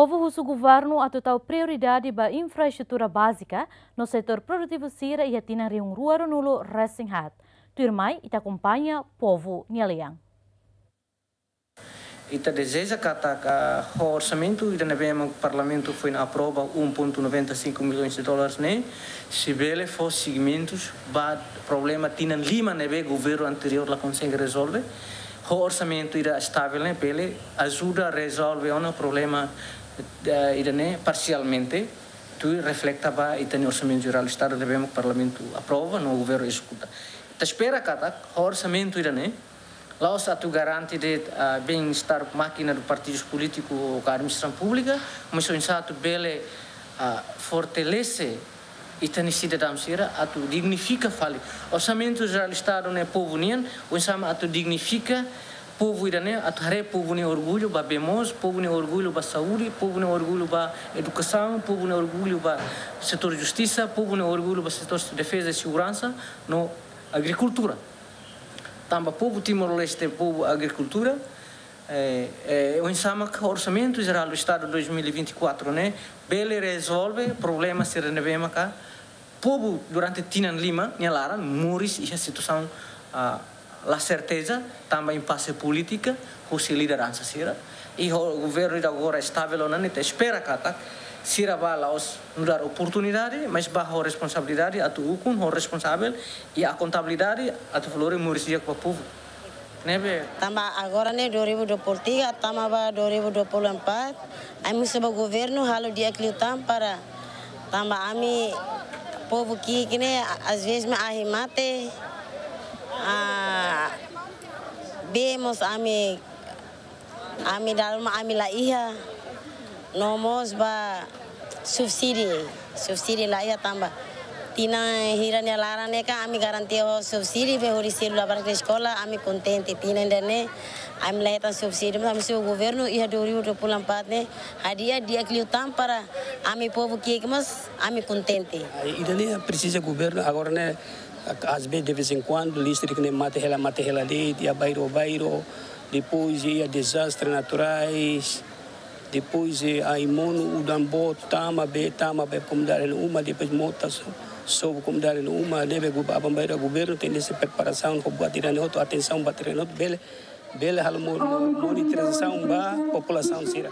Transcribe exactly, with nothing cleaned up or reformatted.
Povu husu governu atu tau prioridade ba infraestrutura bázika no setór produtivu sira iha tinan rihun rua ruanulu resin haat. Tuirmai, ita akompaña povu nia lian. Ita dezeja katak ho orsamentu ida ne'ebé mak Parlamentu foin aprova, um ponto noventa e cinco milhões de dólares ne'e, sei bele fó segmentus ba problema tinan lima ne'ebé governu anteriór la konsege rezolve. Ho orsamentu ida estavel ne'e bele ajuda rezolve ona problema, eh, ida-ne'e parsialmente, tuir refleta ba ita-nia Orsamentu Jerál Estadu ne'ebé mak Parlamentu aprova no governu ezekuta. Ita espera katak ho orsamentu ida-ne'e la'ós atu garante de'it, ah, bem-estar mákina do partidus polítiku ka administrasaun públika, mas oinsá atu bele, ah, fortalese ita-nia sidadaun sira atu dignifika fali. Orsamentu Jerál Estadu ne'e povu nian, oinsá mak atu dignifika povu ida-ne'e, atu haree povu nia orgullu ba bee moos, povu nia orgullu ba saúde, povu nia orgullu ba edukasaun, povu nia orgullu ba setór justisa, povu nia orgullu ba setór defeza i seguransa no agrikultura. Tanba povu Timor-Leste, povu agrikultura, eh, eh, oinsá mak Orsamentu Jerál do Estadu dois mil e vinte e quatro ne'e bele rezolve problema sira ne'ebé maka povu durante tinan lima nia laran moris iha situasaun, ah, la serteza, tanba impase polítika husi lideransa sira. I ho governu ida agora estavel ona ne'e, ita espera katak sira bá la'ós nu'udar oportunidade, mas bá ho responsabilidade atu ukun ho responsavel i akontabilidade atu fó lori moris di'ak ba povu. Ne'ebé. Tanba agora ne'e dua ribu dua puluh tiga, tama ba dua ribu dua puluh empat, ami husu ba governu halo di'ak liután para tanba ami povu ki'ik ne'e, a-, às vezes mak ahi mate, ah, bee mós ami, ami dala ruma ami la iha, no mós ba subsídiu, subsídiu la iha tanba tinan hira nia laran ne'e kan ami garantia ho subsídiu be hodi selu labarik eskola, ami kontente. Tinan ida-ne'e ami la hetan subsídiu, mas ami husu governu iha dua ribu dua puluh empat ne'e hadi'a di'ak liután para ami povu ki'ik mós ami kontente. Ida-ne'e presiza governu agora ne'e, às vezes, de vez em quando, listrik ne'e mate hela, mate hela de'it iha bairru, bairru, depois iha dezastre naturais, depois, eh, ai-monu, udan boot, tama bee, tama bee komunidade nia uma, depois mota so-, sobu komunidade nia uma, ne'ebé gu-, aban-bainrua governu tenke sei preparasaun, ho buat ida-ne'e hotu, atensaun buat ida-ne'e hotu, bele, bele halo mo-, mo-, monitorizasaun ba populasaun sira.